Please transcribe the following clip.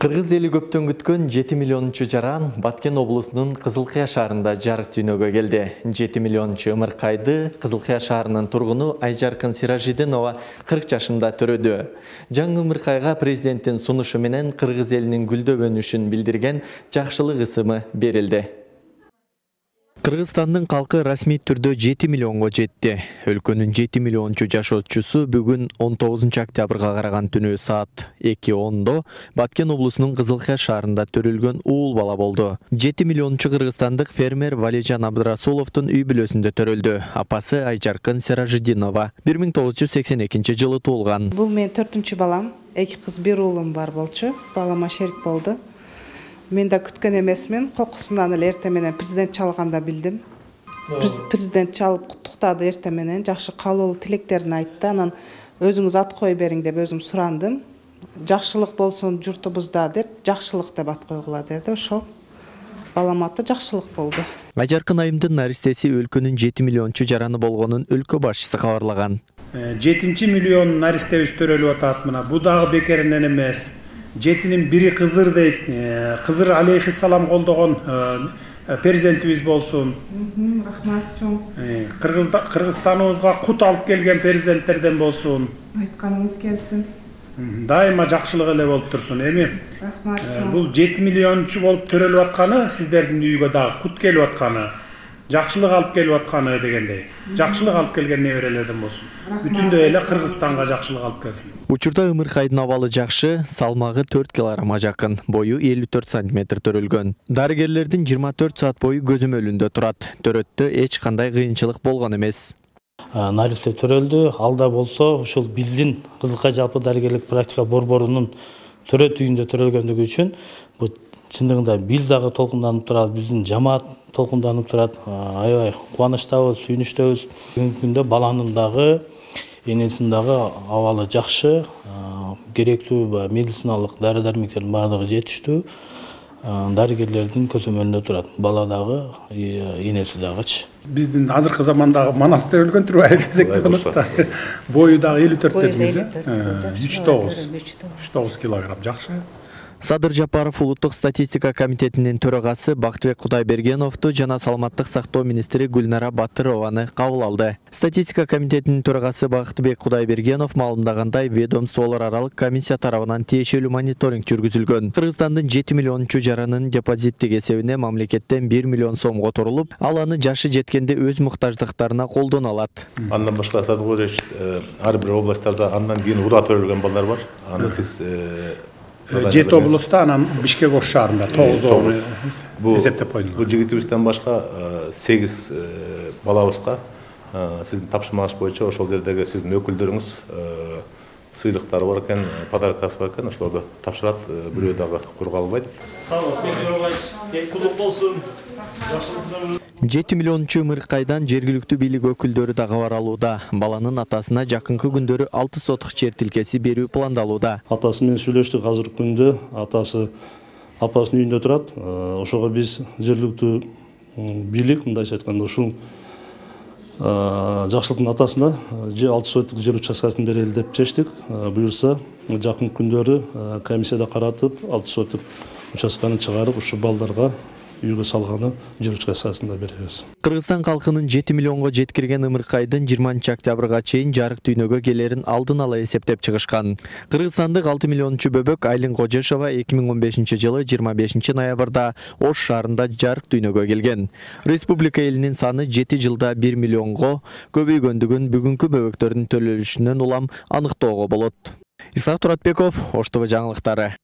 Кыргыз эли көптөн күткөн 7 миллиончу жаран Баткен облусунун Кызылкыя шаарында жарык дүйнөгө келди. 7 миллиончу ымыркайды Кызылкыя шаарынын тургуну Айжаркын Сиражидинова 40 жашында төрөдү. Жаңы ымыркайга президенттин сунушу менен Кыргыз элинин гүлдөгөнүшүн билдирген жакшылык ысымы берилди. Кыргызстандын калкы расмий түрдө 7 миллионго жетти. Өлкөнүн 7 миллиончу жашоочусу бүгүн 19 октябрга караган түнү саат 2:10 Баткен облусунун Кызылкыя шаарында төрөлгөн уул бала болду. 7 миллиончу кыргызстандык фермер Валижан Абдырасуловдун үй бүлөсүндө төрөлдү. Апасы Айжаркын Сиражидинова 1982 жылы туулган. Бул мен 4-чү балам, 2 кыз, 1 уулум бар болчу. Балама шерик болду. Мен да күткөн эмесмин. Кокусунан эле эртең менен президент чалганда билдим. Президент чалып куттуктады эртең менен, жакшы каалоо тилектерин айтты. Анан өзүңүз ат кое бериң деп өзүм сурандым. Жакшылык болсун журтубузда деп, жакшылык деп ат койгула деди. Ошол балам аты жакшылык болду. Айжаркын айымдын наристеси өлкөнүн 7 миллиончу жараны болгонун өлкө башчысы кабарлаган. 7 миллион наристебиз төрөлүп атат мына. Бу дагы бекеринен эмес. 7-нин бири Кызыр дейт. Кызыр алейхиссалам колдогон перзентибиз болсун. Рахмат чоң. Кыргызстаныбызга кут алып келген перзенттерден болсун. Айтканыңыз келсин. Дайыма жакшылык эле болуп турсун. Эми Рахмат чоң. бул 7 миллиончу болуп төрөлүп атканы сиздердин үйгө дагы кут келип атканы, жакшылык алып келип атканы дегендей. Жакшылык алып келген неберелерден болсун. Бүтүндөй эле Кыргызстанга жакшылык алып келсин. Учурда ымыркайдын абалы жакшы, салмагы 4 килограммга жакын, бою 54 сантиметр төрөлгөн. Дарыгерлердин 24 саат бою көзөмөлүндө турат. Төрөттө эч кандай кыйынчылык болгон эмес. Наристе төрөлдү. Алда болсо ушул биздин Кызылкая жалпы дарыгерлик практика борборунун төрөт үйүндө төрөлгөндүгү үчүн бу чындыгында биз дагы толкунданып турат, биздин жамаат толкунданып турат. Аябай кубанычтабыз, сүйүнүчтөбүз. Бүгүнкү күндө баланын дагы энесинин дагы абалы жакшы, керектүү медициналык дары-дармектердин баардыгы жетиштүү. Дарыгерлердин көзөмөлүндө турат. Бала дагы, энеси дагычы. Биздин азыркы замандагы манас төрөлгөн турбайбы десек болот да. Бою дагы 54 дедиңиз, 3,9 килограмм жакшы. Садыр Жапаров улуттук статистика комитетинин төрагасы Бактыбек Кудайбергеновду жана саламаттык сактоо министри Гүлнара Батырованы кабыл алды. Статистика комитетинин төрагасы Бактыбек Кудайбергенов маалымдагандай, ведомстволор аралык комиссия тарабынан тиешелүү мониторинг жүргүзүлгөн. Кыргызстандын 7 миллиончу жаранын депозиттик эсебине мамлекеттен 1 миллион сомго турулуп, ал аны жашы жеткенде өз муктаждыктарына колдоно алат. Андан башка Садыгореш ар бир областтарда андан кийин урда төрөлгөн балдар бар. Аны сиз 7 облуста, анан Бишкек Ош шаарында 9 эсептеп койдуңуз. Бул жигитибизден башка 8 балабызга сиздин тапшырмаңыз боюнча ошол жердеги сиздин өкүлдөрүңүз сыйлыктары бар экен, подаркасы бар экен, ошолорду тапшырат. Бирөө дагы курга албайт. Сау болуңуз, кулук болсун. 7 миллиончу ымыркайдан жергиликтүү бийлик өкүлдөрү да кабар алууда. Баланын атасына жакынкы күндөрү 6 сотук жер тилкеси берүү пландалууда. Атасы менен сүйлөштүк, азыркы күндө атасы апасынын үйүндө турат. Ошого биз жергиликтүү бийлик, мындайча айтканда, ушул жакшылыктын атасына 6 сотук жер участкасын берели деп чечтик. Буюрса, жакын күндөрү комиссияда каратып, 6 сотук участканы чыгарып, ушул балдарга үйгө салганы жер участкасында беребиз. Кыргызстан калкынын 7 миллионго жеткирген ымыркайдын 20 октябрга чейин жарык дүйнөгө келерин алдын ала эсептеп чыгышкан. Кыргызстандык 6 миллиончу бөбөк Айлин Кожешова 2015 жылы 25 ноябрда Ош шаарында жарык дүйнөгө келген. Республика элинин саны 7 жылда 1 миллионго көбөйгөндүгүн бүгүнкү бөбөктөрдүн төрөлүшүнөн улам аныктоого болот. Исак Туратбеков, Ош ТВ жаңылыктары.